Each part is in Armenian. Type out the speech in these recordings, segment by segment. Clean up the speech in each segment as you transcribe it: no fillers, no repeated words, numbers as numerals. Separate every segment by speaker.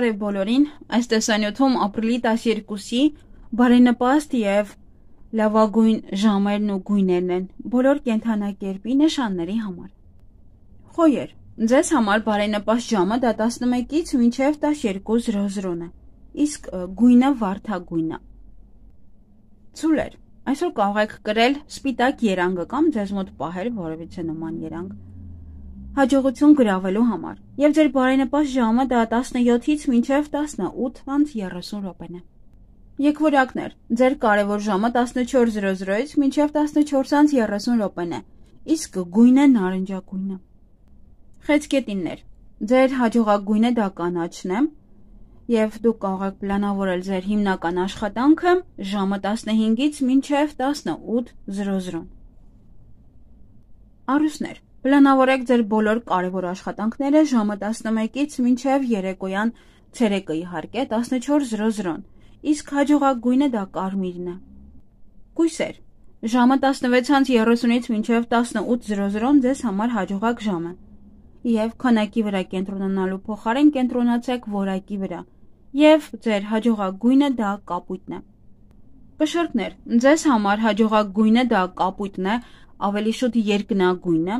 Speaker 1: Բարև բոլորին, այս տեսանյութում ապրիլի 12-ի բարենպաստ և լավագույն ժամերն ու գույներն են բոլոր կենդանակերպի նշանների համար։ Խոյեր, ձեզ համար բարենպաստ ժամը դա 11-ից մինչև 12:00 է, իսկ գույնը վարդագույնն է։ Ցուլեր, այսօր կարող եք կրել սպիտակ երանգը կամ ձեզ մոտ պահել որևիցե նման երանգ հաջողություն գրավելու համար, եւ ձեր բարենպաստ ժամը դա 17-ից մինչև 18:30 րոպեն է։ Եկվորյակներ, ձեր կարևոր ժամը 14:00-ից մինչև 14:30 րոպեն է, իսկ գույնը նարնջագույնը։ Խեցգետիններ, ձեր հաջողակ գույնը դա կանաչն է, եւ դուք կարող եք պլանավորել ձեր հիմնական աշխատանքը ժամը 15-ից մինչև 18:00։ Առուսներ, պլանավորեք ձեր բոլոր կարևոր աշխատանքները ժամը 11-ից մինչև երեկոյան ցերեկը իհարկե 14:00, իսկ հաջողակ գույնը դա կարմիրն է։ Կույսեր, ժամը 16:30-ից մինչև 18:00 ձեզ համար հաջողակ ժամ է, եւ քանակի վրա կենտրոնանալու փոխարեն կենտրոնացեք որակի վրա, եւ ձեր հաջողակ գույնը դա կապույտն է։ Կշերտներ, ձեզ համար հաջողակ գույնը դա կապույտն է, ավելի շուտ երկնագույնը,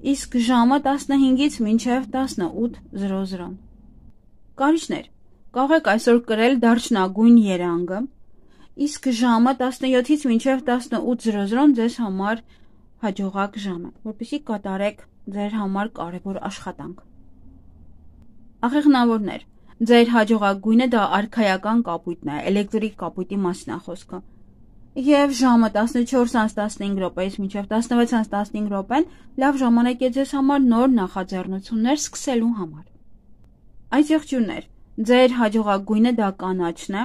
Speaker 1: իսկ ժամը 15-ից մինչև 18:00։ Կարիճներ, կարող եք այսօր կրել դարչնագույն երանգը, իսկ ժամը 17-ից մինչև 18:00 ձեզ համար հաջողակ ժամ է, որպեսզի կատարեք ձեր համար կարևոր աշխատանք։ Աղեղնավորներ, ձեր հաջողակ գույնը դա արքայական կապույտն է, էլեկտրիկ կապույտի մասին է խոսքը, եւ ժամը 14:15 րոպեից մինչև 16:15 րոպեն լավ ժամանակ է ձեզ համար նոր նախաձեռնություններ սկսելու համար։ Այս եղջյուրներ, ձեր հաջողակ գույնը դա կանաչն է,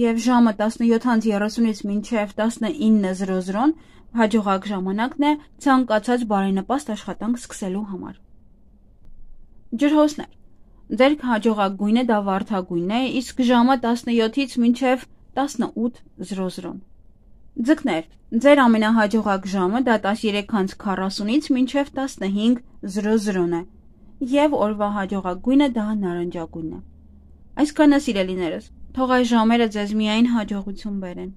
Speaker 1: եւ ժամը 17:30-ից մինչև 19:00 հաջողակ ժամանակն է ցանկացած բարենպաստ աշխատանք սկսելու համար։ Ջրհոսներ, ձեր հաջողակ գույնը դա վարդագույնն է, իսկ ժամը 17-ից մինչև 18:00։ Ձկներ, ձեր ամենահաջողակ ժամը դա 13:40-ից մինչև 15:00 է, եւ օրվա հաջողակ գույնը դա նարնջագույնն է։ Այսքանը սիրելիներս, թող այս ժամերը ձեզ միայն հաջողություն բերեն։